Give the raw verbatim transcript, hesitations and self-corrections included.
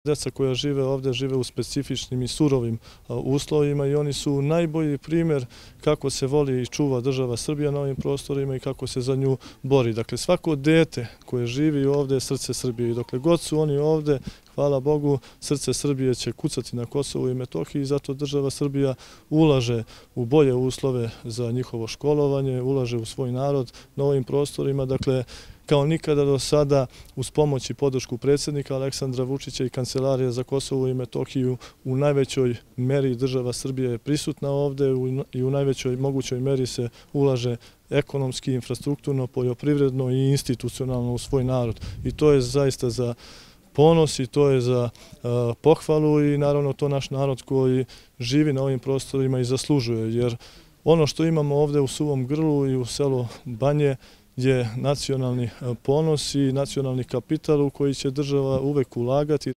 Deca koja žive ovdje žive u specifičnim i surovim uslovima i oni su najbolji primjer kako se voli i čuva država Srbija na ovim prostorima i kako se za nju bori. Dakle, svako dete koje živi ovdje je srce Srbije i dokle god su oni ovdje, hvala Bogu, srce Srbije će kucati na Kosovu i Metohiji i zato država Srbija ulaže u bolje uslove za njihovo školovanje, ulaže u svoj narod na ovim prostorima. Dakle, kao nikada do sada, uz pomoć i podršku predsjednika Aleksandra Vučića i Kancelarije za Kosovo i Metohiju, u najvećoj meri država Srbija je prisutna ovdje i u najvećoj mogućoj meri se ulaže ekonomski, infrastrukturno, poljoprivredno i institucionalno u svoj narod. I to je zaista za ponos i to je za pohvalu i naravno to naš narod koji živi na ovim prostorima i zaslužuje. Jer ono što imamo ovdje u Suvom Grlu i u selu Banje je nacionalni ponos i nacionalni kapital u koji će država uvek ulagati.